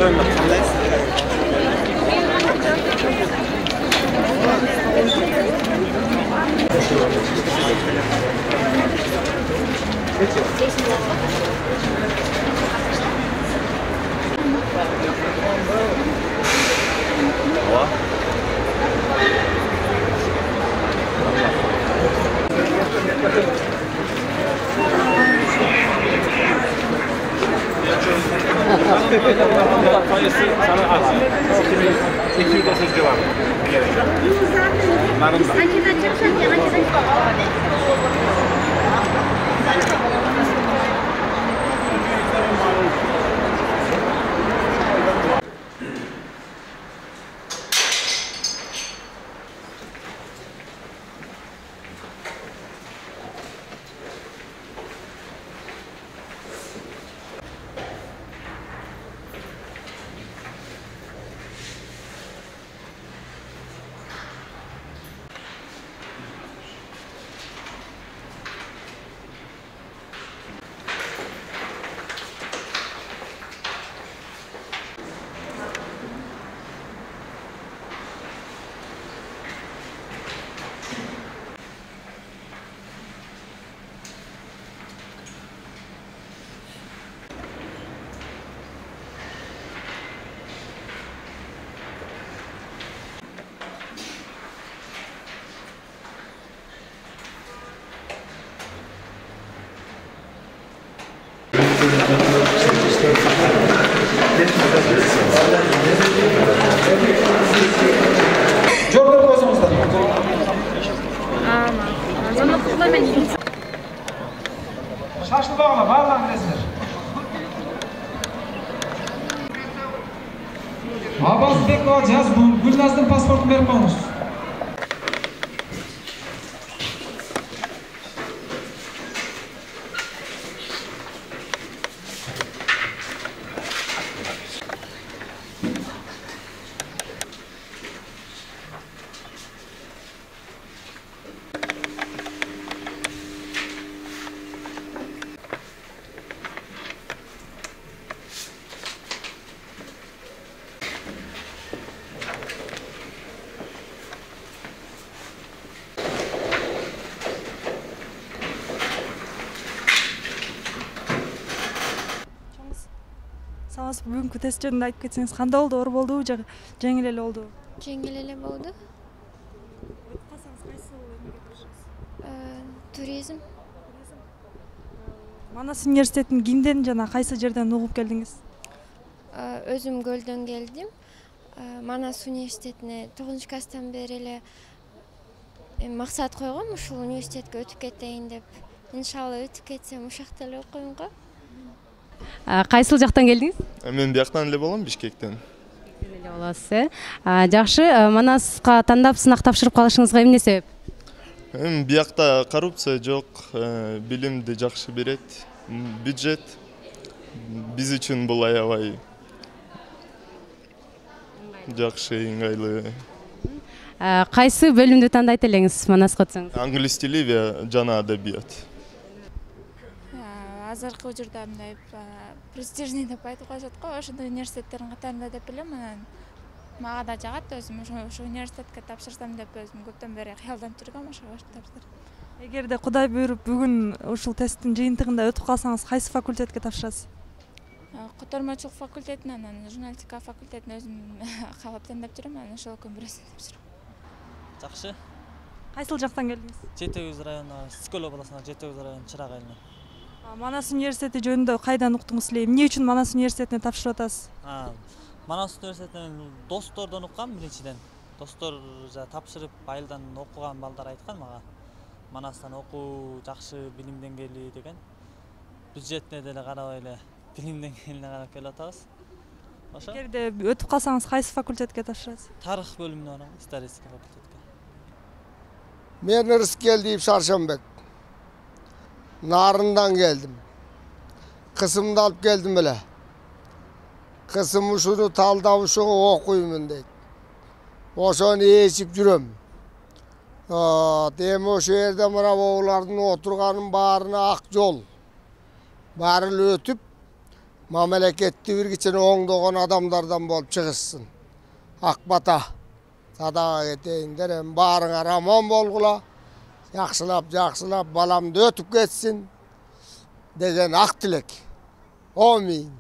Жөнүндө кандайсыз? Шашылбагыла барлығын білесіздер. Абазбекова Жазгүл, Гүлназдың паспортын беріп қойыңыз. Сабас бүгүнкү тест жөнүндө айтып кетсеңиз, кандай болду? Оор болдубу же жеңил эле болду? Жеңил эле болду. Кайсыңыз кайсы эмнеге киришесиз? Туризм. Манас университетин кимден жана кайсы жерден угуп келдиңиз? Өзүм Көлдөн келдим. Манас университетине 9-класстан бери эле максат койгом, ушул университетке өтүп кетейин деп. Иншалла өтүп кетсем ушакта эле окуйм го. Кайсыл жактан келдиңиз? Мен бияктан эле болом, Бишкектен. Эле болосуз, жакшы. Манаска тандап сынак тапшырып калышыңызга эмне себеп? Биякта коррупция жок, билимди жакшы берет, бюджет биз үчүн бул аябай жакшы, ыңгайлуу. Кайсы бөлүмдү тандайт элеңиз Манаска өтсөңүз? Англис тили жана адабият. Азыркы учурда мындай престижный деп айтып коюшат го, ошондой университеттердин катарында деп билем. Мага да жагат, өзүм ошо университетке тапшырсам деп өзүм көптөн бери кыялданып жүргөм, ошого тапшырдым. Эгерде Кудай буйруп бүгүн ушул тесттин жыйынтыгында өтүп калсаңыз, кайсы факультетке тапшырасыз? Котормочулук факультетин, анан журналистика факультетин өзүм каалап тандап жүрөм, анан ошолордун бирөөсүн тапшырам. Жакшы. Кайсыл жактан келдиңиз? Жети Өгүз району, Скөл областына Жети Өгүз району Чырак айылына. Манас университети жөнүндө кайдан уктуңуз эле? Эмне үчүн Манас университетине тапшырып атасыз? Манас университетинен достордон уккам биринчиден. Достор тапшырып айылдан окуган балдар айткан мага. Манастан окуу жакшы, билим деңгээли деген. Бюджетине деле карабай эле билим деңгээлине карап келип атабыз. Ошо. Эгерде өтүп калсаңыз, кайсы факультетке тапшырасыз? Тарых бөлүмүнө барам, исторический факультетке. Мен Рыскелдиев Шаршанбек. Нарындан келдим. Кысымды алып келдим эле. Кысым ушуну талдап ушуга окуймун дейт. Ошону ээчип жүрөм. Дем ошо жерде мына болардын отурганын баарына ак жол. Баары эле өтүп, мамлекетти бир кичине оңдогон адамдардан болуп чыгышсын. Ак бата садага кетейиндер, эми баарыңар аман болгула, жакшылап баламды өтүп кетсин деген ак тилек. Амин.